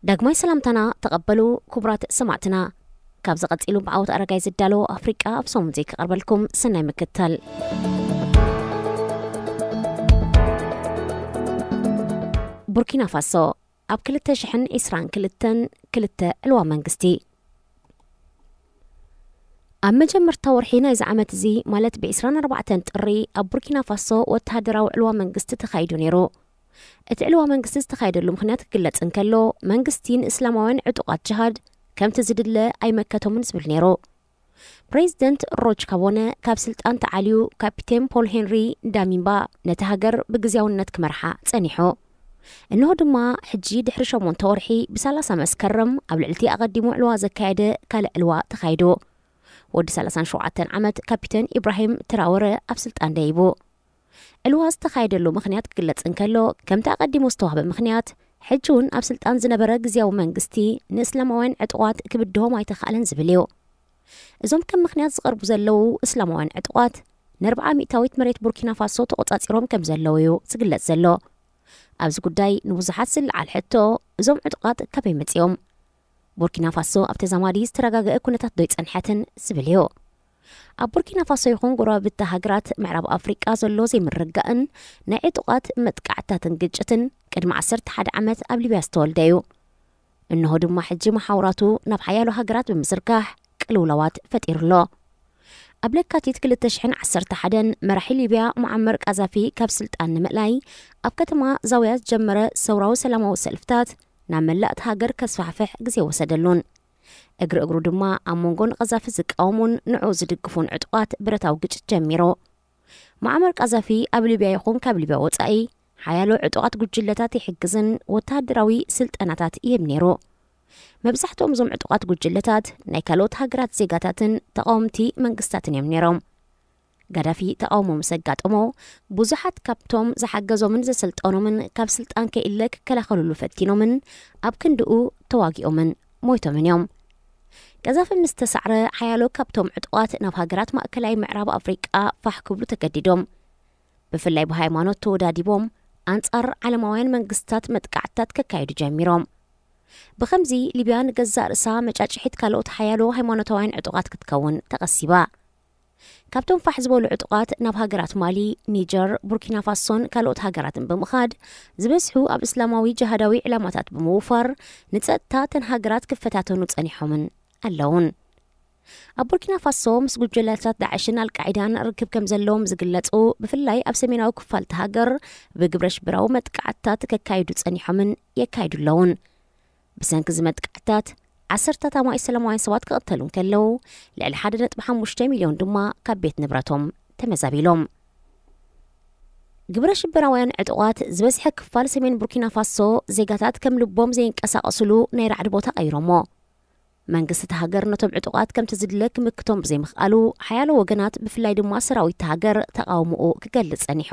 ዳግማይ ሰላምታና ተቐበሉ ክቡራት ሰማዕትና። ካብ ዝቐጺሉ ብዓወት ኣረጋይ ዝዳሎ ኣፍሪቃ ኣብ ሰሙን ዘይክቐርበልኩም ሰናይ ምክታል። ቡርኪና ፋሶ ኣብ ክልተ ሽሕን ዕስራን ክልተን ክልተ ዕልዋ መንግስቲ። ኣብ መጀመርታ ወርሒ ናይዚ ዓመት እዚ፣ ማለት ብ ዕስራን ኣርባዕተን ጥሪ፣ ኣብ ቡርኪና ፋሶ ወተሃደራዊ ዕልዋ መንግስቲ ተኻይዱ ነይሩ። እቲ ዕልዋ መንግስቲ ዝተኻየደሉ ምኽንያት ክግለጽ እንከሎ፣ መንግስቲ ንእስላማውያን ዕጡቓት ጅሃድ ከምቲ ዝድለ ኣይመከቶምን ዝብል ነይሩ። ፕሬዚደንት ሮች ካቦነ ካብ ስልጣን ተዓልዩ፣ ካፒቴን ፖል ሄንሪ ዳሚምባ ነቲ ሃገር ብግዝያውነት ክመርሓ ጸኒሑ። እንሆ ድማ ሕጂ ድሕሪ ሸሞንተ ወርሒ፣ ብሰላሳ መስከረም፣ ኣብ ልዕሊ እቲ ኣቐዲሙ ዕልዋ ዘካየደ ካልእ ዕልዋ ተኻይዱ። ወዲ ሰላሳን ሸውዓተን ዓመት ካፒቴን ኢብራሂም ትራወረ ኣብ ስልጣን ደይቡ። ዕልዋ ዝተኻየደሉ ምኽንያት ክግለጽ እንከሎ፣ ከምቲ ኣቐዲሙ ዝተዋህበ ምኽንያት፣ ሕጂ እውን ኣብ ስልጣን ዝነበረ ግዝያዊ መንግስቲ ንእስላማውያን ዕጡቓት ክብድሆም ኣይተኻእለን ዝብል እዩ። እዞም ከም ምኽንያት ዝቐርቡ ዘለዉ እስላማውያን ዕጡቓት፣ ንኣርብዓ ሚእታዊት መሬት ቡርኪና ፋሶ ተቖጻጺሮም ከም ዘለዉ እዩ ዝግለጽ ዘሎ። ኣብዚ ጉዳይ ንብዙሓት ዝለዓል ሕቶ፣ እዞም ዕጡቓት ካበይ መጺኦም? ቡርኪና ፋሶ ኣብ ተዛማዲ ዝተረጋገአ ኩነታት ዶ ይጸንሐትን ዝብል እዩ። ኣብ ቡርኪና ፋሶ ይኹን ጎረባብቲ ሃገራት ምዕራብ ኣፍሪቃ ዘሎ ዘይምርግጋእን ናይ ዕጡቓት መጥቃዕትታትን ግጭትን ቅድሚ ዓሰርተ ሓደ ዓመት ኣብ ሊብያ ዝተወልደ እዩ። እንሆ ድማ ሕጂ መሓውራቱ ናብ ሓያሎ ሃገራት ብምዝርጋሕ ቅልውላዋት ፈጢሩ ኣሎ። ኣብ ለካቲት ክልተ ሽሕን ዓሰርተ ሓደን መራሒ ሊብያ ሙዓመር ቃዛፊ ካብ ስልጣን ንምእላይ ኣብ ከተማ ዛውያ ዝጀመረ ሰውራዊ ሰላማዊ ሰልፍታት ናብ መላእ እታ ሃገር ከስፋሕፍሕ ግዜ ወሰደሉን፣ እግሪ እግሩ ድማ ኣብ መንጎ ንቐዛፊ ዝቃወሙን ንዕኡ ዝድግፉን ዕጡቓት ብረታዊ ግጭት ጀሚሩ። ሙዓመር ቃዛፊ ኣብ ሊብያ ይኹን ካብ ሊብያ ወጻኢ ሓያሎ ዕጡቓት ጉጅለታት ይሕግዝን ወተሃደራዊ ስልጠናታት ይህብ ነይሩ። መብዛሕትኦም እዞም ዕጡቓት ጉጅለታት ናይ ካልኦት ሃገራት ዜጋታትን ተቓወምቲ መንግስታትን እዮም ነይሮም። ጋዳፊ ተቓውሞ ምስ ኣጋጠሞ፣ ብዙሓት ካብቶም ዝሓገዞምን ዘሰልጠኖምን ካብ ስልጣን ከይእለ ክከላኸሉሉ ፈቲኖምን ኣብ ክንድኡ ተዋጊኦምን ሞይቶምን እዮም። ቀዛፊ ምስ ተሳዕረ፣ ሓያሎ ካብቶም ዕጡቓት ናብ ሃገራት ማእከላይ ምዕራብ ኣፍሪቃ ፋሕ ክብሉ ተገዲዶም። ብፍላይ ብሃይማኖት ተወዳዲቦም ኣንጻር ዓለማውያን መንግስታት መጥቃዕትታት ከካይዱ ጀሚሮም። ብኸምዚ ሊብያ ንገዛእ ርእሳ መጫጭሒት ካልኦት ሓያሎ ሃይማኖታውያን ዕጡቓት ክትከውን ተቐሲባ። ካብቶም ፋሕ ዝበሉ ዕጡቓት ናብ ሃገራት ማሊ፣ ኒጀር፣ ቡርኪና ፋሶን ካልኦት ሃገራትን ብምኻድ፣ ዝበዝሑ ኣብ እስላማዊ ጅሃዳዊ ዕላማታት ብምውፋር፣ ንጸጥታ እተን ሃገራት ክፈታተኑ ጸኒሖምን ኣለውን። ኣብ ቡርኪና ፋሶ ምስ ጉጅለታት ዳዕሽን ኣልቃዒዳን ርክብ ከም ዘለዎም ዝግለጹ፣ ብፍላይ ኣብ ሰሜናዊ ክፋል እታ ሃገር ብግብረ ሽበራዊ መጥቃዕትታት ከካይዱ ጸኒሖምን የካይዱ ኣለውን። ብሰንኪ እዚ መጥቃዕትታት፣ ዓሰርታት ኣማኢት ሰላማውያን ሰባት ክቕተሉ እንከለዉ፣ ልዕሊ ሓደ ነጥቢ ሓሙሽተ ሚልዮን ድማ ካብ ቤት ንብረቶም ተመዛቢሎም። ግብረ ሽበራውያን ዕጡቓት ዝበዝሐ ክፋል ሰሜን ቡርኪና ፋሶ ዜጋታት ከም ልቦም ዘይንቀሳቐስሉ ናይ ራዕዲ ቦታ ቀይሮሞ። መንግስቲ እታ ሃገር ነቶም ዕጡቓት ከምቲ ዝድለ ክምክቶም ብዘይምኽኣሉ፣ ሓያሎ ወገናት ብፍላይ ድማ ሰራዊት እታ ሃገር ተቓውሞኡ ክገልጽ ጸኒሑ።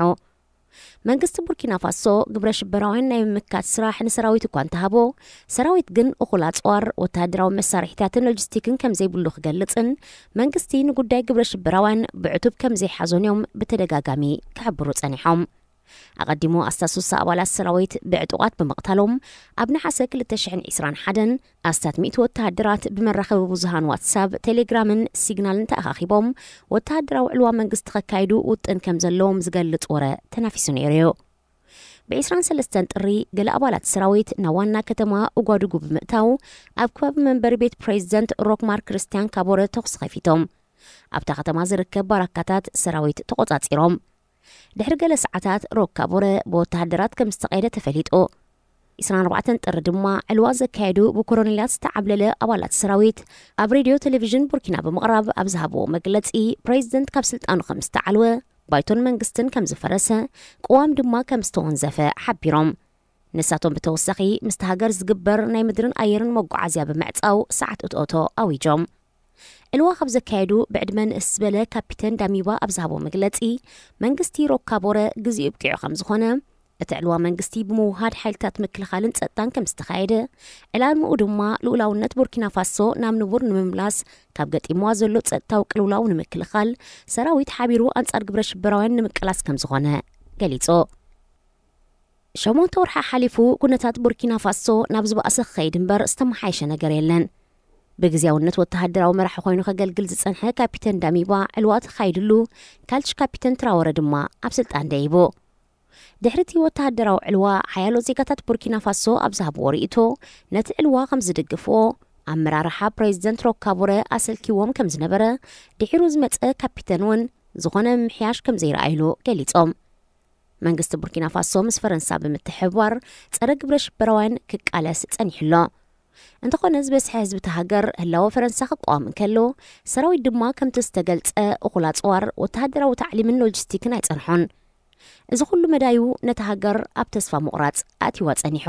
መንግስቲ ቡርኪና ፋሶ ግብረ ሽበራውያን ናይ ምምካት ስራሕ ንሰራዊት እኳ እንተሃቦ፣ ሰራዊት ግን እኹል ኣጽዋር፣ ወተሃደራዊ መሳርሒታትን ሎጂስቲክን ከም ዘይብሉ ክገልጽን መንግስቲ ንጉዳይ ግብረ ሽበራውያን ብዕቱብ ከም ዘይሓዞን እዮም ብተደጋጋሚ ክሕብሩ ጸኒሖም። ኣቐዲሙ ኣስታት ስሳ ኣባላት ሰራዊት ብዕጡቓት ብምቕታሎም፣ ኣብ ነሓሰ ክልተ ሽሕን ዕስራን ሓደን ኣስታት ሚእቲ ወተሃደራት ብመራኸቢ ብዙሃን ዋትሳፕ፣ ቴሌግራምን ሲግናልን ተኣኻኺቦም ወተሃደራዊ ዕልዋ መንግስቲ ከካይዱ ውጥን ከም ዘለዎም ዝገልጽ ወረ ተናፊሱ ነይሩ እዩ። ብ ዕስራን ሰለስተን ጥሪ፣ ገለ ኣባላት ሰራዊት ናብ ዋና ከተማ ኡጓዱጉ ብምእታው፣ ኣብ ከባቢ መንበሪ ቤት ፕሬዚደንት ሮክ ማርክ ክርስቲያን ካቦረ ተኹሲ ከፊቶም። ኣብታ ከተማ ዝርከብ ባራካታት ሰራዊት ተቖጻጺሮም። ድሕሪ ገለ ሰዓታት፣ ሮክ ካቦረ ብወተሃደራት ከም ዝተቐየደ ተፈሊጡ። ዕስራን ኣርባዕተን ጥሪ ድማ፣ ዕልዋ ዘካየዱ ብኮሎኔላት ዝተዓብለለ ኣባላት ሰራዊት ኣብ ሬድዮ ቴሌቪዥን ቡርኪና ብምቕራብ ኣብ ዝሃብዎ መግለጺ፣ ፕሬዚደንት ካብ ስልጣኑ ከም ዝተዓልወ፣ ባይቶን መንግስትን ከም ዝፈረሰ፣ ቅዋም ድማ ከም ዝተወንዘፈ ሓቢሮም። ንሳቶም ብተወሳኺ፣ ምስቲ ሃገር ዝግበር ናይ ምድርን ኣየርን መጓዓዝያ ብምዕጻው ሰዓት እቶእቶ ኣዊጆም። ዕልዋ ካብ ዘካየዱ ብዕድመ ንእስ ዝበለ ካፒተን ዳሚባ ኣብ ዝሃቦ መግለጺ፣ መንግስቲ ሮካቦረ ግዜኡ ኣብቂዑ ከም ዝኾነ፣ እቲ ዕልዋ መንግስቲ ብምውሃድ ሓይልታት ምክልኻልን ጸጥታን ከም ዝተኻየደ፣ ዕላምኡ ድማ ልኡላውነት ቡርኪና ፋሶ ናብ ንቡር ንምምላስ፣ ካብ ገጢምዋ ዘሎ ጸጥታዊ ቅልውላው ንምክልኻል፣ ሰራዊት ሓቢሩ ኣንጻር ግብረ ሽበራውያን ንምቅላስ ከም ዝኾነ ገሊጹ። ሸሞንተ ወርሒ ሓሊፉ፣ ኩነታት ቡርኪና ፋሶ ናብ ዝበኣሰ ክኸይድ እምበር ዝተመሓየሸ ነገር የለን። ብግዜያውነት ወተሃደራዊ መራሒ ኮይኑ ከገልግል ዝጸንሐ ካፒተን ዳሚባ፣ ዕልዋ ተኻይድሉ፣ ካልች ካፒተን ትራወረ ድማ ኣብ ስልጣን ደይቡ። ድሕሪ እቲ ወተሃደራዊ ዕልዋ፣ ሓያሎ ዜጋታት ቡርኪና ፋሶ ኣብ ዝሃብዎ ርእይቶ፣ ነቲ ዕልዋ ከም ዝድግፍዎ፣ ኣመራርሓ ፕሬዚደንት ሮካቦረ ኣሰልኪዎም ከም ዝነበረ፣ ድሒሩ ዝመጸ ካፒተን እውን ዝኾነ ምምሕያሽ ከም ዘይረኣይሉ ገሊጾም። መንግስቲ ቡርኪና ፋሶ ምስ ፈረንሳ ብምትሕብባር ጸረ ግብረ ሽበራውያን ክቃለስ ጸኒሑ ኣሎ። እንተኾነ፣ ዝበዝሐ ህዝቢ እቲ ሃገር ህላወ ፈረንሳ ክቃወም እንከሎ፣ ሰራዊት ድማ ከምቲ ዝተገልጸ እኹል ኣጽዋር፣ ወተሃደራዊ ታዕሊምን ሎጂስቲክን ኣይጸንሖን። እዚ ኩሉ መዳዩ ነቲ ሃገር ኣብ ተስፋ ምቑራጽ ኣእትይዋ ጸኒሑ።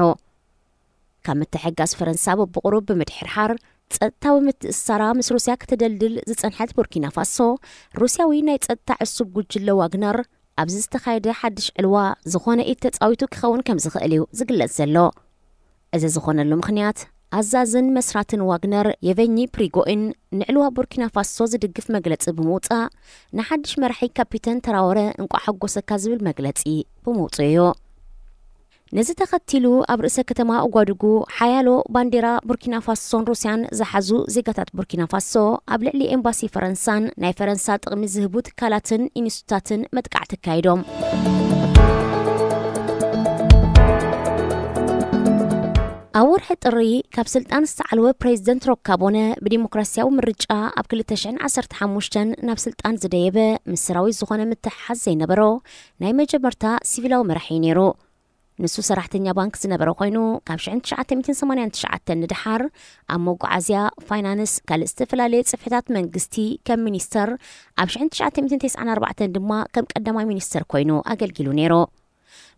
ካብ ምትሕግጋዝ ፈረንሳ በብቑሩብ ብምድሕርሓር፣ ጸጥታዊ ምትእስሳራ ምስ ሩስያ ከተደልድል ዝጸንሐት ቡርኪና ፋሶ፣ ሩስያዊ ናይ ጸጥታ ዕሱብ ጉጅለ ዋግነር ኣብዚ ዝተኻየደ ሓድሽ ዕልዋ ዝኾነ ኢድ ተጻዊቱ ክኸውን ከም ዝኽእል እዩ ዝግለጽ ዘሎ። እዚ ዝኾነሉ ምኽንያት፣ ኣዛዝን መስራትን ዋግነር የቨኚ ፕሪጎኢን ንዕልዋ ቡርኪና ፋሶ ዝድግፍ መግለጺ ብምውጻእ፣ ንሓድሽ መራሒ ካፒተን ተራወረ እንቋዕ ሓጎሰካ ዝብል መግለጺ ብምውጽኡ እዩ። ነዚ ተኸቲሉ፣ ኣብ ርእሰ ከተማ ኡጓዱጉ ሓያሎ ባንዴራ ቡርኪና ፋሶን ሩስያን ዝሓዙ ዜጋታት ቡርኪና ፋሶ፣ ኣብ ልዕሊ ኤምባሲ ፈረንሳን ናይ ፈረንሳ ጥቕሚ ዝህቡ ትካላትን ኢንስቲቱታትን መጥቃዕቲ ኣካይዶም። ኣብ ወርሒ ጥሪ፣ ካብ ስልጣን ዝተዓልወ ፕሬዚደንት ሮካቦነ፣ ብዲሞክራሲያዊ ምርጫ ኣብ ክልተ ሽሕን ዓሰርተ ሓሙሽተን ናብ ስልጣን ዝደየበ፣ ምስ ሰራዊት ዝኾነ ምትሕሓዝ ዘይነበሮ ናይ መጀመርታ ሲቪላዊ መራሒ እዩ ነይሩ። ንሱ ሰራሕተኛ ባንክ ዝነበረ ኮይኑ፣ ካብ ሽሕን ትሽዓተ ሚእትን ሰማንያን ትሽዓተን ንደሓር ኣብ መጓዓዝያ፣ ፋይናንስ፣ ካልእ ዝተፈላለየ ጽፍሕታት መንግስቲ ከም ሚኒስተር፣ ኣብ ሽሕን ትሽዓተ ሚእትን ተስዓን ኣርባዕተን ድማ ከም ቀዳማይ ሚኒስተር ኮይኑ ኣገልጊሉ ነይሩ።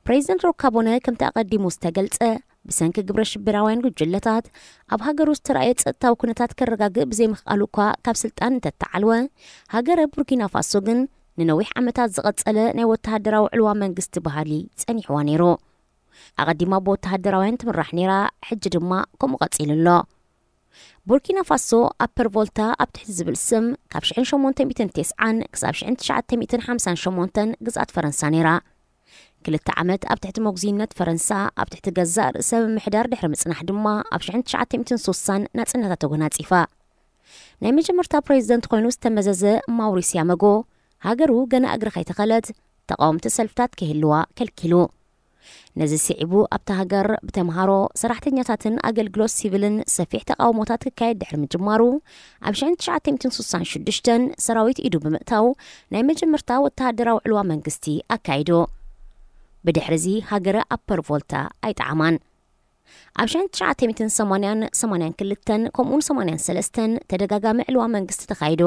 ፕሬዚደንት ሮካቦነ፣ ከምቲ ኣቐዲሙ ዝተገልጸ፣ ብሰንኪ ግብረ ሽበራውያን ጉጅለታት ኣብ ሃገሩ ዝተራእየ ጸጥታዊ ኩነታት ከረጋግእ ብዘይምኽኣሉ እኳ ካብ ስልጣን እንተተዓልወ፣ ሃገረ ቡርኪና ፋሶ ግን ንነዊሕ ዓመታት ዝቐጸለ ናይ ወተሃደራዊ ዕልዋ መንግስቲ ባህሊ ጸኒሕዋ ነይሩ። ኣቐዲማ ብወተሃደራውያን ትምራሕ ነይራ፣ ሕጂ ድማ ከምኡ ቀጺሉ ኣሎ። ቡርኪና ፋሶ፣ ኣፐር ቮልታ ኣብ ትሕቲ ዝብል ስም፣ ካብ ሽሕን ሸሞንተ ሚእትን ተስዓን ክሳብ ሽሕን ትሽዓተ ሚእትን ሓምሳን ሸሞንተን ግዝኣት ፈረንሳ ነይራ። ክልተ ዓመት ኣብ ትሕቲ መጉዝይነት ፈረንሳ፣ ኣብ ትሕቲ ገዛእ ርእሰ ምምሕዳር ድሕሪ ምጽናሕ ድማ፣ ኣብ ሽሕን ትሽዓተ ሚእትን ሱሳን ናጽነታ ተጎናጺፋ። ናይ መጀመርታ ፕሬዚደንት ኮይኑ ዝተመዘዘ ማውሪስ ያመጎ፣ ሃገሩ ገና እግሪ ከይተኸለት፣ ተቃወምቲ ሰልፍታት ከይህልዋ ከልኪሉ። ነዚ ስዒቡ፣ ኣብታ ሃገር ብተምሃሮ፣ ሰራሕተኛታትን ኣገልግሎት ሲቪልን ሰፊሕ ተቃውሞታት ክካየድ ድሕሪ ምጅማሩ፣ ኣብ ሽሕን ትሽዓተ ሚእትን ሱሳን ሽዱሽተን ሰራዊት ኢዱ ብምእታው፣ ናይ መጀመርታ ወተሃደራዊ ዕልዋ መንግስቲ ኣካይዱ። ብድሕሪዚ፣ ሃገረ ኣፐር ቮልታ ኣይጠዓማን። ኣብ ሽሕን ትሽዓተ ሚእትን ሰማንያን ሰማንያን ክልተን ከምኡውን ሰማንያን ሰለስተን ተደጋጋሚ ዕልዋ መንግስቲ ተኻይዱ።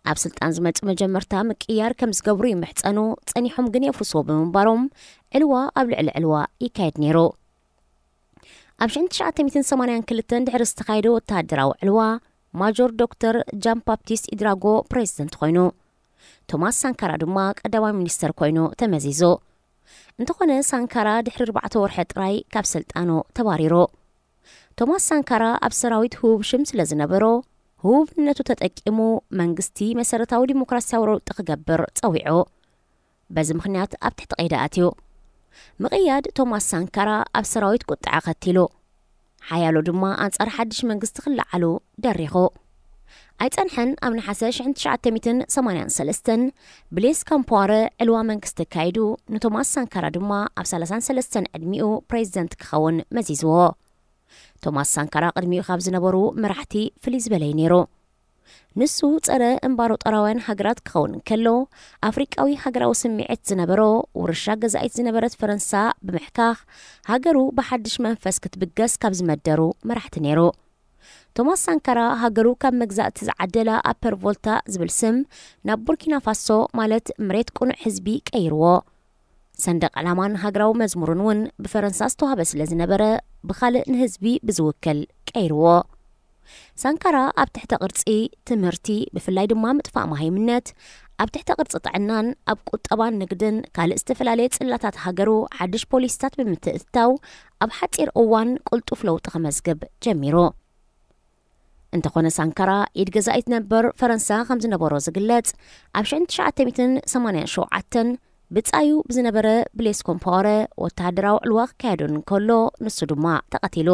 ኣብ ስልጣን ዝመጹ መጀመርታ ምቅያር ከም ዝገብሩ ይምሕጸኑ፣ ጸኒሖም ግን የፍርስዎ ብምንባሮም፣ ዕልዋ ኣብ ልዕሊ ዕልዋ ይካየድ ነይሩ። ኣብ ሽሕን ትሽዓተ ሚእትን ሰማንያን ክልተን ድሕሪ ዝተኻየደ ወተሃደራዊ ዕልዋ፣ ማጆር ዶክተር ጃን ባፕቲስት ኢድራጎ ፕሬዚደንት ኮይኑ፣ ቶማስ ሳንካራ ድማ ቀዳማይ ሚኒስተር ኮይኑ ተመዚዙ። እንተኾነ፣ ሳንካራ ድሕሪ ኣርባዕተ ወርሒ ጥራይ ካብ ስልጣኑ ተባሪሩ። ቶማስ ሳንካራ ኣብ ሰራዊት ህቡብ ሽም ስለ ዝነበሮ፣ ህቡብነቱ ተጠቂሙ መንግስቲ መሰረታዊ ዲሞክራሲያዊ ለውጢ ክገብር ጸዊዑ። በዚ ምኽንያት ኣብ ትሕቲ ቀይዲ ኣትዩ። ምቕያድ ቶማስ ሳንካራ ኣብ ሰራዊት ቁጥዐ ከቲሉ። ሓያሎ ድማ ኣንጻር ሓድሽ መንግስቲ ክለዓሉ ደሪኹ። ኣይጸንሐን፣ ኣብ ነሓሰ ሽሕን ትሽዓተ ሚእትን ሰማንያን ሰለስተን ብሌስ ካምፖዋረ ዕልዋ መንግስቲ ኣካይዱ፣ ንቶማስ ሳንካራ ድማ ኣብ ሰላሳን ሰለስተን ዕድሚኡ ፕሬዚደንት ክኸውን መዚዝዎ። ቶማስ ሳንካራ ቅድሚኡ ካብ ዝነበሩ መራሕቲ ፍልይ ዝበለ እዩ ነይሩ። ንሱ ጸረ እምባሮጦራውያን ሃገራት ክኸውን እንከሎ፣ ኣፍሪቃዊ ሃገራዊ ስምዒት ዝነበሮ፣ ውርሻ ገዛኢት ዝነበረት ፈረንሳ ብምሕካኽ፣ ሃገሩ ብሓድሽ መንፈስ ክትብገስ ካብ ዝመደሩ መራሕቲ ነይሩ። ቶማስ ሳንካራ ሃገሩ ካብ መግዛእቲ ዝዓደላ ኣፐር ቮልታ ዝብል ስም ናብ ቡርኪና ፋሶ፣ ማለት መሬት ቅኑዕ ህዝቢ፣ ቀይርዎ። ሰንደቕ ዕላማን ሃገራዊ መዝሙርን እውን ብፈረንሳ ዝተዋህበ ስለ ዝነበረ፣ ብኻልእ ንህዝቢ ብዝውክል ቀይርዎ። ሳንካራ ኣብ ትሕተ ቅርጺ፣ ትምህርቲ፣ ብፍላይ ድማ ምጥፋእ መሃይምነት፣ ኣብ ትሕተ ቅርጺ ጥዕናን ኣብ ቁጠባን ንግድን ካልእ ዝተፈላለየ ጽላታት ሃገሩ ሓድሽ ፖሊሲታት ብምትእትታው፣ ኣብ ሓጺር እዋን ቅልጡፍ ለውጢ ከመዝግብ ጀሚሩ። እንተኾነ፣ ሳንካራ ኢድ ገዛኢት ነበር ፈረንሳ ከም ዝነበሮ ዝግለጽ፣ ኣብ ሽሕን ትሽዓተ ሚእትን ሰማንያን ሸውዓተን ብጻዩ ብዝነበረ ብሌስ ኮምፓወረ ወተሃደራዊ ዕልዋ ክካየደሉ እንከሎ፣ ንሱ ድማ ተቐቲሉ።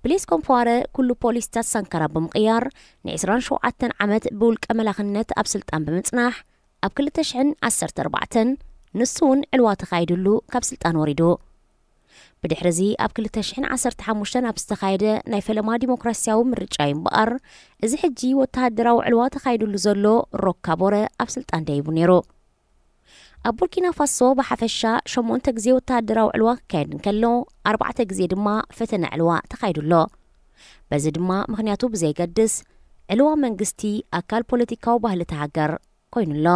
ብሌስ ኮምፓወረ ኩሉ ፖሊሲታት ሳንካራ ብምቕያር፣ ን27 ዓመት ብውልቀ መላኽነት ኣብ ስልጣን ብምጽናሕ፣ ኣብ ክልተ ሽሕን ዓሰርተ ኣርባዕተን ንሱ እውን ዕልዋ ተኻይድሉ ካብ ስልጣን ወሪዱ። ብድሕርዚ ኣብ ክልተ ሽሕን ዓሰርተ ሓሙሽተን ኣብ ዝተኻየደ ናይ ፈለማ ዲሞክራሲያዊ ምርጫ እዩ እምበኣር፣ እዚ ሕጂ ወተሃደራዊ ዕልዋ ተኻይድሉ ዘሎ ሮክ ካቦረ ኣብ ስልጣን ደይቡ ነይሩ። ኣብ ቡርኪና ፋሶ ብሓፈሻ ሸሞንተ ግዜ ወተሃደራዊ ዕልዋ ክካየድ እንከሎ፣ ኣርባዕተ ግዜ ድማ ፈተነ ዕልዋ ተኻይዱ ኣሎ። በዚ ድማ ምኽንያቱ ብዘይገድስ፣ ዕልዋ መንግስቲ ኣካል ፖለቲካዊ ባህሊ እታ ሃገር ኮይኑ ኣሎ።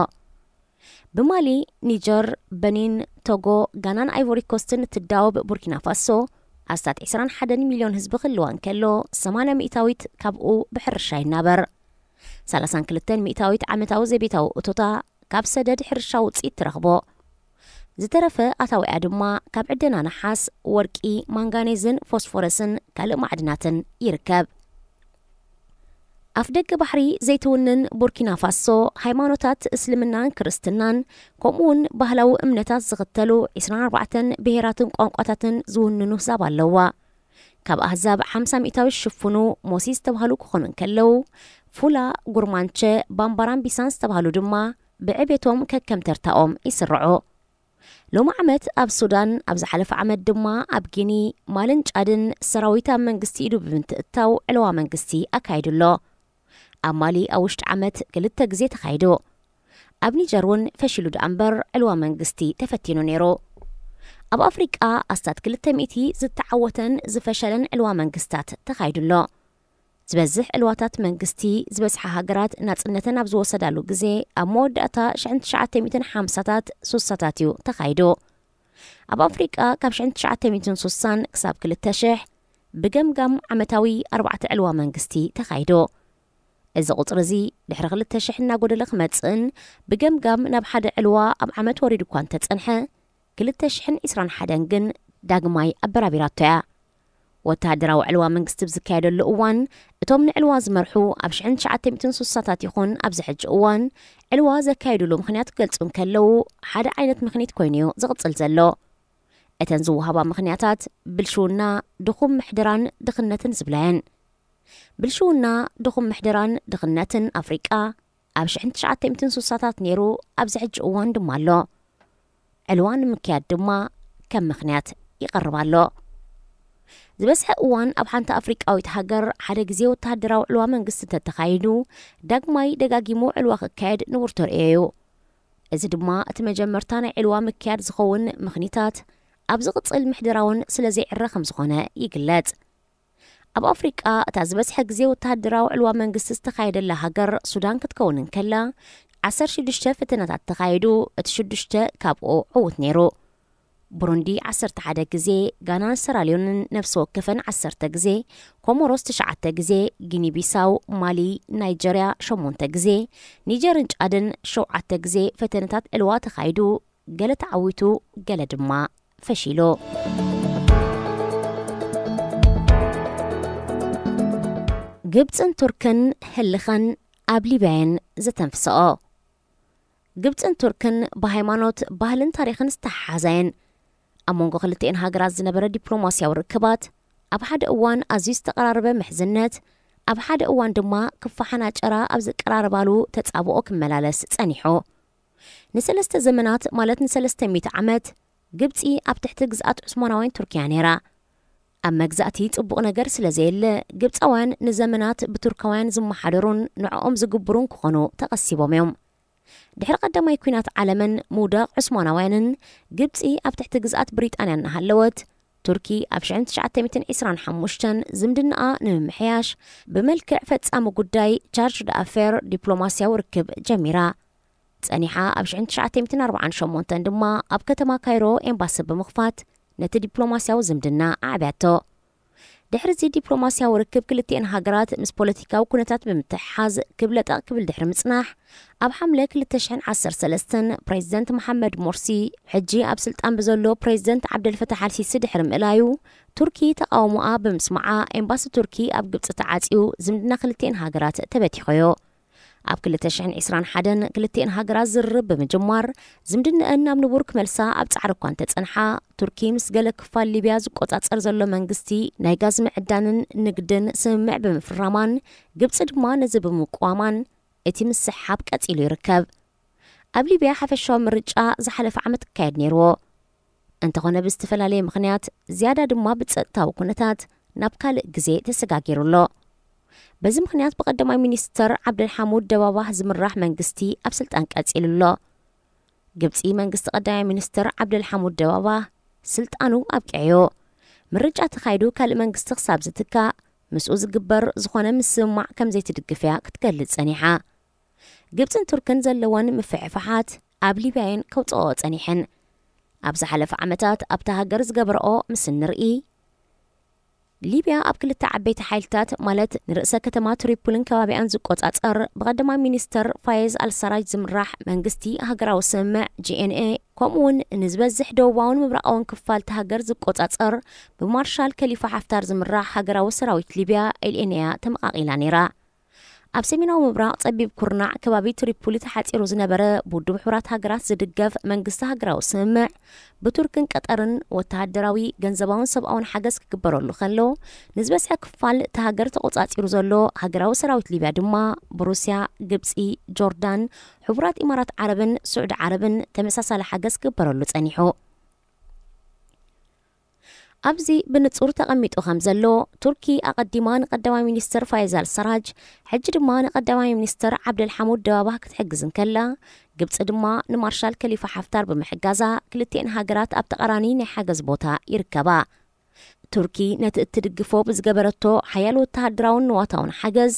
ብማሊ፣ ኒጀር፣ በኒን፣ ቶጎ፣ ጋናን ኣይቮሪ ኮስትን እትዳወብ ቡርኪና ፋሶ፣ ኣስታት ዕስራን ሓደን ሚልዮን ህዝቢ ክህልዋ እንከሎ፣ ሰማንያ ሚእታዊት ካብኡ ብሕርሻ ይናበር። ሰላሳን ክልተን ሚእታዊት ዓመታዊ ዘቤታዊ እቶታ ካብ ሰደድ ሕርሻ ውፅኢት ትረኽቦ። ዝተረፈ ኣታዊኣ ድማ ካብ ዕደና ነሓስ፣ ወርቂ፣ ማንጋኔዝን ፎስፎረስን ካልእ ማዕድናትን ይርከብ። ኣፍ ደገ ባሕሪ ዘይትውንን ቡርኪና ፋሶ፣ ሃይማኖታት እስልምናን ክርስትናን፣ ከምኡውን ባህላዊ እምነታት ዝኽተሉ ዕስራን ኣርባዕተን ብሄራትን ቋንቋታትን ዝውንኑ ህዛብ ኣለዋ። ካብ ኣህዛብ ሓምሳ ሚእታዊ ዝሽፍኑ ሞሲ ዝተባህሉ ክኾኑ እንከለዉ፣ ፉላ፣ ጉርማንቸ፣ ባምባራን ቢሳን ዝተባህሉ ድማ ብዕቤቶም ከከም ተርታኦም ይስርዑ። ሎሚ ዓመት ኣብ ሱዳን፣ ኣብ ዝሓለፈ ዓመት ድማ ኣብ ጊኒ፣ ማልን ጫድን ሰራዊት ኣብ መንግስቲ ኢዱ ብምትእታው ዕለዋ መንግስቲ ኣካይዱ ኣሎ። ኣብ ማሊ ኣብ ውሽጢ ዓመት ክልተ ግዜ ተኻይዱ። ኣብ ኒጀር እውን ፈሺሉ ደኣ እምበር ዕልዋ መንግስቲ ተፈቲኑ ነይሩ። ኣብ ኣፍሪቃ ኣስታት ክልተ ሚእቲ ዝተዓወተን ዝፈሸለን ዕልዋ መንግስታት ተኻይዱ ኣሎ። ዝበዝሕ ዕልዋታት መንግስቲ ዝበዝሓ ሃገራት ናጽነተን ኣብ ዝወሰዳሉ ግዜ ኣብ መወዳእታ ሽሕን ትሽዓተ ሚእትን ሓምሳታት ሱሳታት እዩ ተኻይዱ። ኣብ ኣፍሪቃ ካብ ሽሕን ትሽዓተ ሚእትን ሱሳን ክሳብ ክልተ ሽሕ ብገምጋም ዓመታዊ ኣርባዕተ ዕልዋ መንግስቲ ተኻይዱ። እዚ ቁጽሪ እዚ ድሕሪ ክልተ ሽሕ እናጎደለ ክመጽእን ብገምጋም ናብ ሓደ ዕልዋ ኣብ ዓመት ወሪዱ እኳ እንተጸንሐ፣ ክልተ ሽሕን ዕስራን ሓደን ግን ዳግማይ ኣበራቢራቶ እያ። ወተሃደራዊ ዕልዋ መንግስቲ ብዝካየደሉ እዋን፣ እቶም ንዕልዋ ዝመርሑ ኣብ ሽሕን ትሽዓተ ሚእትን ሱሳታት ይኹን ኣብዚ ሕጂ እዋን ዕልዋ ዘካየዱሉ ምኽንያት ክገልጹ እንከለዉ፣ ሓደ ዓይነት ምኽኒት ኮይኑ እዩ ዝቕጽል ዘሎ። እተን ዝወሃባ ምኽንያታት ብልሽውና፣ ድኹም ምሕደራን ድኽነትን ዝብላ እየን። ብልሽውና፣ ድኹም ምሕደራን ድኽነትን ኣፍሪቃ ኣብ ሽሕን ትሽዓተ ሚእትን ሱሳታት ነይሩ፣ ኣብዚ ሕጂ እዋን ድማ ኣሎ። ዕልዋ ንምክያድ ድማ ከም ምኽንያት ይቐርብ ኣሎ። ዝበዝሐ እዋን ኣብ ሓንቲ ኣፍሪቃዊት ሃገር ሓደ ግዜ ወተሃደራዊ ዕልዋ መንግስቲ እንተተኻይዱ፣ ዳግማይ ደጋጊሙ ዕልዋ ክካየድ ንቡር ተርእዮ እዩ። እዚ ድማ እቲ መጀመርታ ናይ ዕልዋ ምክያድ ዝኸውን ምኽኒታት ኣብ ዝቕጽል ምሕደራውን ስለ ዘይዕረ ከም ዝኾነ ይግለጽ። ኣብ ኣፍሪቃ እታ ዝበዝሐ ግዜ ወተሃደራዊ ዕልዋ መንግስቲ ዝተኻየደላ ሃገር ሱዳን ክትከውን እንከላ፣ ዓሰርተ ሽዱሽተ ፈተነታት ተኻይዱ፣ እቲ ሽዱሽተ ካብኡ ዕዉት ነይሩ። ቡሩንዲ ዓሰርተ ሓደ ግዜ፣ ጋናን ሰራልዮንን ነፍሲ ወከፈን ዓሰርተ ግዜ፣ ኮሞሮስ ትሽዓተ ግዜ፣ ጊኒ ቢሳው፣ ማሊ፣ ናይጀርያ ሸሞንተ ግዜ፣ ኒጀርን ጫድን ሸውዓተ ግዜ ፈተነታት ዕልዋ ተኻይዱ፣ ገለ ተዓዊቱ፣ ገለ ድማ ፈሺሉ። ግብጽን ቱርክን ህልኸን ኣብ ሊብያ እየን ዘተንፍስኦ። ግብጽን ቱርክን ብሃይማኖት፣ ባህልን ታሪኽን ዝተሓሓዛ እየን። ኣብ መንጎ ክልቲኤን ሃገራት ዝነበረ ዲፕሎማስያዊ ርክባት፣ ኣብ ሓደ እዋን ኣዝዩ ዝተቐራረበ ምሕዝነት፣ ኣብ ሓደ እዋን ድማ ክፋ ሓናጨራ ኣብ ዝቀራረባሉ ተጻብኦ ክመላለስ ጸኒሑ። ንሰለስተ ዘመናት፣ ማለት ንሰለስተ ሚእቲ ዓመት፣ ግብጺ ኣብ ትሕቲ ግዝኣት ዑስማናውያን ቱርኪያ ነይራ። ኣብ መግዛእቲ ጽቡቕ ነገር ስለ ዘየለ፣ ግብጻውያን ንዘመናት ብቱርካውያን ዝመሓደሩን ንዕኦም ዝግብሩን ክኾኑ ተቐሲቦም እዮም። ድሕሪ ቀዳማይ ኲናት ዓለምን ምውዳቕ ዑስማናውያንን፣ ግብጺ ኣብ ትሕቲ ግዝኣት ብሪጣንያ እናሃለወት፣ ቱርኪ ኣብ ሽሕን ትሽዓተ ሚእትን ዕስራን ሓሙሽተን ዝምድናኣ ንምምሕያሽ፣ ብመልክዕ ፈጻሚ ጉዳይ ቻርጅ ዳኣፌር ዲፕሎማስያዊ ርክብ ጀሚራ። ጸኒሓ ኣብ ሽሕን ትሽዓተ ሚእትን ኣርባዓን ሸሞንተን ድማ ኣብ ከተማ ካይሮ ኤምባሲ ብምኽፋት ነቲ ዲፕሎማስያዊ ዝምድና ኣዕብያቶ። ድሕሪ እዚ ዲፕሎማስያዊ ርክብ ክልቲኤን ሃገራት ምስ ፖለቲካዊ ኩነታት ብምትሕሓዝ ክብ ለጠቕ ክብል ድሕሪ ምጽናሕ፣ ኣብ ሓምለ ክልተ ሽሕን ዓሰርተ ሰለስተን ፕሬዚደንት መሓመድ ሞርሲ፣ ሕጂ ኣብ ስልጣን ብዘሎ ፕሬዚደንት ዓብደልፈታሕ ኣልሲሲ ድሕሪ ምእላዩ፣ ቱርኪ ተቓውሞኣ ብምስማዓ ኤምባሲ ቱርኪ ኣብ ግብጺ ተዓጽዩ ዝምድና ክልቲኤን ሃገራት ተበቲኹ እዩ። ኣብ ክልተ ሽሕን ዕስራን ሓደን ክልቲኤን ሃገራት ዝርርብ ብምጅማር፣ ዝምድነአን ናብ ንቡር ክመልሳ ኣብ ጻዕሪ እኳ እንተጸንሓ፣ ቱርኪ ምስ ገለ ክፋል ሊብያ ዝቆጻጸር ዘሎ መንግስቲ ናይ ጋዝ ምዕዳንን ንግድን ስምምዕ ብምፍራማን፣ ግብጺ ድማ ነዚ ብምቅዋማን እቲ ምስሕሓብ ቀጺሉ ይርከብ። ኣብ ሊብያ ሓፈሻዊ ምርጫ ዝሓለፈ ዓመት ክካየድ ነይርዎ። እንተኾነ ብዝተፈላለየ ምኽንያት፣ ዝያዳ ድማ ብጸጥታዊ ኩነታት ናብ ካልእ ግዜ ተሰጋጊሩ ኣሎ። በዚ ምኽንያት ብቐዳማይ ሚኒስተር ዓብደልሓሙድ ደባባህ ዝምራሕ መንግስቲ ኣብ ስልጣን ቀጺሉ ኣሎ። ግብጺ መንግስቲ ቀዳማይ ሚኒስተር ዓብደልሓሙድ ደባባህ ስልጣኑ ኣብቂዕዮ። ምርጫ ተኻይዱ ካልእ መንግስቲ ክሳብ ዝትካእ ምስኡ ዝግበር ዝኾነ ምስምማዕ ከም ዘይትድግፍ እያ ክትገልጽ ጸኒሓ። ግብጽን ቱርክን ዘለወን ምፍሕፋሓት ኣብ ሊብያ እየን ከውጽኦ ጸኒሐን። ኣብ ዝሓለፈ ዓመታት ኣብታ ሃገር ዝገበረኦ ምስ እንርኢ፣ ሊብያ ኣብ ክልተ ዓበይቲ ሓይልታት ማለት ንርእሰ ከተማ ትሪፖልን ከባቢኣን ዝቆጻጸር ብቐዳማይ ሚኒስተር ፋየዝ ኣልሳራጅ ዝምራሕ መንግስቲ ሃገራዊ ስምምዕ ጂ ኤን ኤ፣ ከምኡ እውን ንዝበዝሕ ደቡባውን ምብራቓውን ክፋል እታ ሃገር ዝቆጻጸር ብማርሻል ከሊፋ ሓፍታር ዝምራሕ ሃገራዊ ሰራዊት ሊብያ ኤል ኤን ኤ እያ ተመቓቒላ ነይራ። ኣብ ሰሜናዊ ምብራቕ ጸቢብ ኩርናዕ ከባቢ ትሪፖሊ ተሓጺሩ ዝነበረ ብውድብ ሕቡራት ሃገራት ዝድገፍ መንግስቲ ሃገራዊ ስምምዕ ብቱርክን ቀጠርን ወተሃደራዊ፣ ገንዘባውን ሰብኣውን ሓገዝ ክግበረሉ ከሎ፣ ንዝበዝሐ ክፋል እታ ሃገር ተቖጻጺሩ ዘሎ ሃገራዊ ሰራዊት ሊብያ ድማ ብሩስያ፣ ግብጺ፣ ጆርዳን፣ ሕቡራት ኢማራት ዓረብን ስዑዲ ዓረብን ተመሳሳሊ ሓገዝ ክግበረሉ ጸኒሑ። ኣብዚ ብንጹር ተቐሚጡ ከም ዘሎ፣ ቱርኪ ኣቐዲማ ንቀዳማይ ሚኒስተር ፋይዝ ኣል ሰራጅ፣ ሕጂ ድማ ንቀዳማይ ሚኒስተር ዓብደል ሓሙድ ደባባህ ክትሕግዝ እንከላ፣ ግብጺ ድማ ንማርሻል ከሊፋ ሓፍታር ብምሕጋዛ፣ ክልቲኤን ሃገራት ኣብ ተቓራኒ ናይ ሓገዝ ቦታ ይርከባ። ቱርኪ ነቲ እትድግፎ ብዝገበረቶ ሓያል ወተሃደራውን ንዋታውን ሓገዝ፣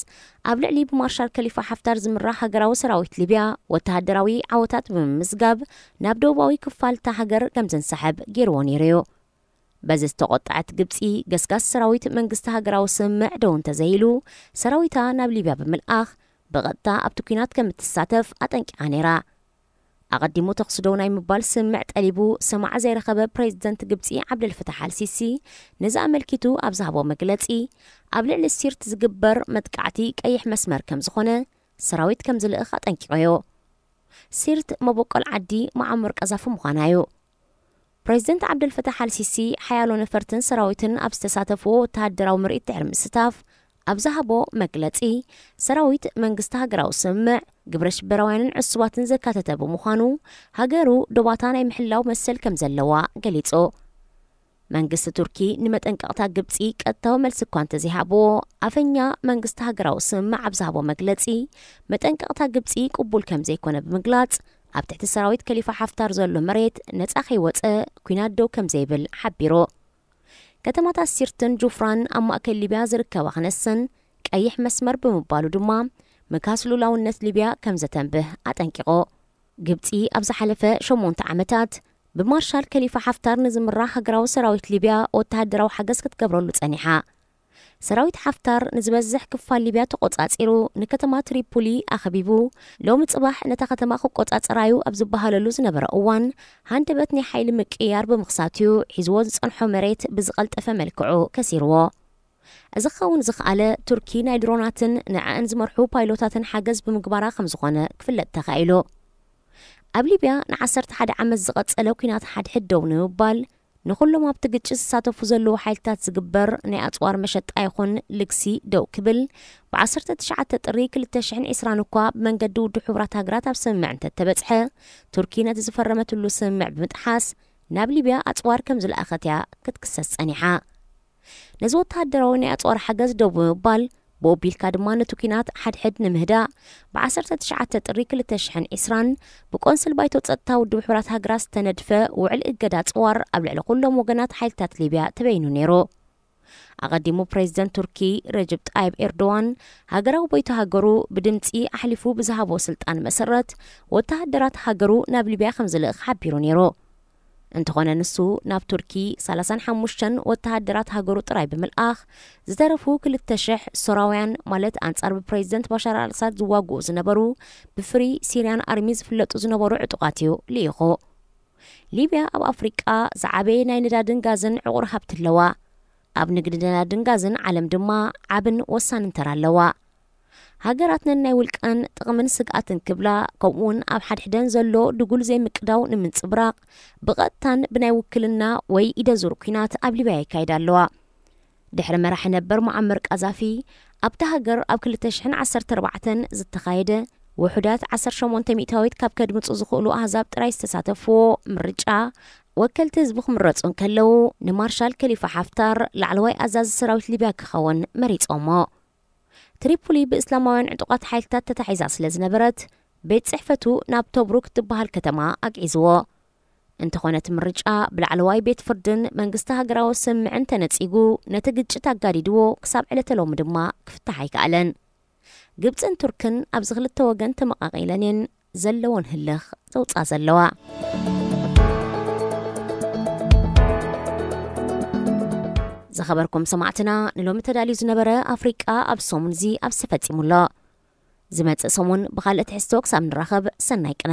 ኣብ ልዕሊ ብማርሻል ከሊፋ ሓፍታር ዝምራሕ ሃገራዊ ሰራዊት ሊብያ ወተሃደራዊ ዓወታት ብምምዝጋብ፣ ናብ ደቡባዊ ክፋል እታ ሃገር ከም ዘንሳሕብ ገይርዎ ነይሩ እዩ። በዚ ዝተቖጠዐት ግብጺ፣ ገስጋስ ሰራዊት መንግስቲ ሃገራዊ ስምምዕ ደው እንተዘይሉ፣ ሰራዊታ ናብ ሊብያ ብምልኣኽ፣ ብቐጥታ ኣብቲ ኲናት ከም እትሳተፍ ኣጠንቂቓ ነይራ። ኣቐዲሙ ተኹሲ ደው ናይ ምባል ስምምዕ ጠሊቡ ሰማዒ ዘይረኸበ ፕሬዚደንት ግብጺ ዓብደልፈታሕ ኣልሲሲ፣ ነዚ ኣመልኪቱ ኣብ ዝሃቦ መግለጺ፣ ኣብ ልዕሊ ሲርት ዝግበር መጥቃዕቲ ቀይሕ መስመር ከም ዝኾነ ሰራዊት ከም ዝልእኽ ኣጠንቂቑ እዩ። ሲርት መበቆል ዓዲ መዓሙር ቀዛፊ ምዃና እዩ። ፕሬዚደንት ዓብደልፈታሕ ኣልሲሲ፣ ሓያሎ ነፈርትን ሰራዊትን ኣብ ዝተሳተፍዎ ወተሃደራዊ ምርኢት ድሕሪ ምስታፍ፣ ኣብ ዝሃቦ መግለጺ፣ ሰራዊት መንግስቲ ሃገራዊ ስምምዕ፣ ግብረ ሽበራውያንን ዕሱባትን ዘካተተ ብምዃኑ፣ ሃገሩ ዶባታ ናይ ምሕላው መሰል ከም ዘለዋ ገሊጹ። መንግስቲ ቱርኪ ንመጠንቀቕታ ግብጺ ቀጥታዊ መልሲ እኳ እንተዘይሃብዎ፣ ኣፈኛ መንግስቲ ሃገራዊ ስምምዕ ኣብ ዝሃቦ መግለጺ፣ መጠንቀቕታ ግብጺ ቅቡል ከም ዘይኮነ ብምግላጽ፣ ኣብ ትሕቲ ሰራዊት ከሊፋ ሓፍታር ዘሎ መሬት ነጻ ከይወጸ፣ ኲናት ደው ከም ዘይብል ሓቢሩ። ከተማታት ሲርትን ጁፍራን ኣብ ማእከል ሊብያ ዝርከባ ክነሰን፣ ቀይሕ መስመር ብምባሉ ድማ፣ ምካስ ሉላውነት ሊብያ ከም ዘተንብህ ኣጠንቂቑ። ግብጺ ኣብ ዝሓለፈ ሸሞንተ ዓመታት፣ ብማርሻል ከሊፋ ሓፍታር ንዝምራሕ ሃገራዊ ሰራዊት ሊብያ ወተሃደራዊ ሓገዝ ክትገብረሉ ጸኒሓ። ሰራዊት ሓፍታር ንዝበዝሕ ክፋል ሊብያ ተቖጻጺሩ፣ ንከተማ ትሪፖሊ ኣኸቢቡ፣ ሎሚ ጽባሕ ነታ ከተማ ክቆጻጸራዩ ኣብ ዝበሃለሉ ዝነበረ እዋን፣ ሃንደበት ናይ ሓይሊ ምቅይያር ብምኽሳትዩ፣ ሒዝዎ ዝጸንሖ መሬት ብዝቐልጠፈ መልክዑ ከሲርዎ። እዚ ክኸውን ዝኸኣለ፣ ቱርኪ ናይ ድሮናትን ንዕኣን ዝመርሑ ፓይሎታትን ሓገዝ ብምግባራ ከም ዝኾነ ክፍለጥ ተኻኢሉ። ኣብ ሊብያ ንዓሰርተ ሓደ ዓመት ዝቐጸለ ኲናት ሓድሕድ ደው ንምባል፣ ንኹሎም ኣብቲ ግጭት ዝሳተፉ ዘለዉ ሓይልታት ዝግበር ናይ ኣጽዋር መሸጣ ይኹን ልግሲ ደው ክብል፣ ብዓሰርተ ትሽዓተ ጥሪ ክልተ ሽሕን ዕስራን እኳ ብመንገዲ ውድብ ሕቡራት ሃገራት ኣብ ስምምዕ እንተተበጽሐ፣ ቱርኪ ነቲ ዝፈረመትሉ ስምምዕ ብምጥሓስ፣ ናብ ሊብያ ኣጽዋር ከም ዝለኣኸት እያ ክትክሰስ ጸኒሓ። ነዚ ወተሃደራዊ ናይ ኣጽዋር ሓገዝ ደው ብምባል፣ ብኡ ኣቢልካ ድማ ነቲ ኲናት ሓድሕድ ንምህዳእ፣ ብዓሰርተ ትሽዓተ ጥሪ ክልተ ሽሕን ዕስራን ብቆንስል ባይቶ ጸጥታ ውድብ ሕቡራት ሃገራት ዝተነድፈ ውዕል እገዳ ኣጽዋር ኣብ ልዕሊ ኩሎም ወገናት ሓይልታት ሊብያ ተበይኑ ነይሩ። ኣቐዲሙ ፕሬዚደንት ቱርኪ ረጅብ ጣይብ ኤርዶዋን፣ ሃገራዊ ባይቶ ሃገሩ ብድምጺ ኣሕሊፉ ብዝሃቦ ስልጣን መሰረት፣ ወተሃደራት ሃገሩ ናብ ሊብያ ከም ዝልእኽ ሓቢሩ ነይሩ። እንተኾነ ንሱ ናብ ቱርኪ ሰላሳን ሓሙሽተን ወተሃደራት ሃገሩ ጥራይ ብምልኣኽ፣ ዝተረፉ ክልተ ሽሕ ሶራውያን፣ ማለት ኣንጻር ብፕሬዚደንት ባሻር ኣልኣሳድ ዝዋግኡ ዝነበሩ፣ ብፍሪ ሲርያን ኣርሚ ዝፍለጡ ዝነበሩ ዕጡቓት እዩ ልኢኹ። ሊብያ ኣብ ኣፍሪቃ ዝዓበየ ናይ ነዳድን ጋዝን ዕቑር ሃብቲ ኣለዋ። ኣብ ንግዲ ነዳድን ጋዝን ዓለም ድማ ዓብን ወሳንን ተራ ኣለዋ። ሃገራት ነናይ ውልቀን ጥቕምን ስግኣትን ክብላ፣ ከምኡውን ኣብ ሓድሕደን ዘሎ ድጉል ዘይምቅዳው ንምንጽብራቕ፣ ብቐጥታን ብናይ ውክልና ወይ ኢደ ዙር ኲናት ኣብ ሊብያ የካይዳ ኣለዋ። ድሕሪ መራሒ ነበር ሙዓመር ቃዛፊ፣ ኣብታ ሃገር ኣብ ክልተ ሽሕን ዓሰርተ ኣርባዕተን ዝተኻየደ ውሑዳት ዓሰርተ ሸሞንተ ሚእታዊት ካብ ከድምጹ ዝኽእሉ ኣህዛብ ጥራይ ዝተሳተፍዎ ምርጫ፣ ወከልቲ ህዝቢ ክምረጹ እንከለዉ፣ ንማርሻል ከሊፋ ሓፍታር ላዕለዋይ ኣዛዚ ሰራዊት ሊብያ ክኸውን መሪጾሞ። ትሪፖሊ ብእስላማውያን ዕጡቓት ሓይልታት ተታሒዛ ስለ ዝነበረት፣ ቤት ጽሕፈቱ ናብ ቶብሩክ ትበሃል ከተማ ኣግዒዝዎ። እንተኾነ እቲ ምርጫ ብላዕለዋይ ቤት ፍርድን መንግስቲ ሃገራዊ ስምምዕን ተነጺጉ፣ ነቲ ግጭት ኣጋዲድዎ፣ ክሳብ ዕለተ ሎሚ ድማ ክፍታሕ ኣይከኣለን። ግብጽን ቱርክን ኣብዚ ክልተ ወገን ተመቓቒለን እየን ዘለወን ህልኽ ዘውፅኣ ዘለዋ። ዝኸበርኩም ሰማዕትና፣ ንሎሚ ተዳልዩ ዝነበረ ኣፍሪቃ ኣብ ሰሙን እዚ ኣብዚ ተፈጺሙ ኣሎ። ዝመጽእ ሰሙን ብኻልእ ትሕዝቶ ክሳብ ንራኸብ፣ ሰናይ ቅነ።